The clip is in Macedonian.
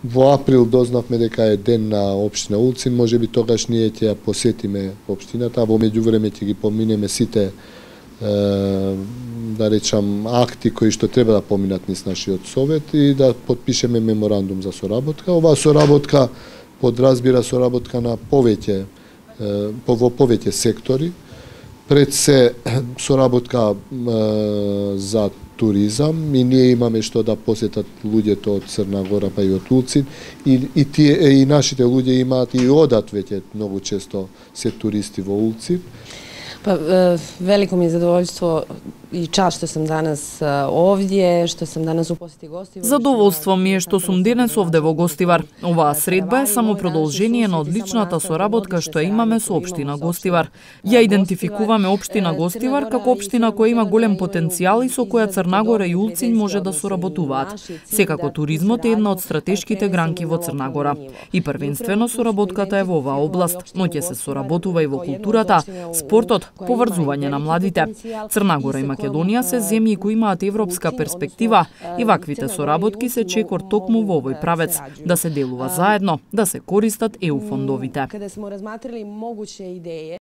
Во април дознавме дека е ден на општина Улцин, можеби тогаш ние ќе ја посетиме општината, а во меѓувреме ќе ги поминеме сите да речам акти кои што треба да поминат низ нашиот совет и да потпишеме меморандум за соработка. Оваа соработка подразбира соработка на повеќе во повеќе сектори. Пред се соработка за туризам и ние имаме што да посетат луѓето од Црна Гора па и од Улцин и нашите луѓе имаат и одат веќе многу често се туристи во Улцин. Па, велико ми е задоволство и част што сум данас овде, што сум данас у посети Гостивар. Задоволство ми е што сум денес овде во Гостивар. Оваа средба е само продолжение на одличната соработка што имаме со општина Гостивар. Ја идентификуваме општина Гостивар како општина која има голем потенцијал и со која Црна Гора и Улцин може да соработуваат. Секако туризмот е една од стратешките гранки во Црна Гора. И првенствено соработката е во оваа област, но ќе се соработува и во културата, спортот, поврзување на младите. Црна Гора и Македонија се земји кои имаат европска перспектива и ваквите соработки се чекор токму во овој правец, да се делува заедно, да се користат ЕУ фондовите.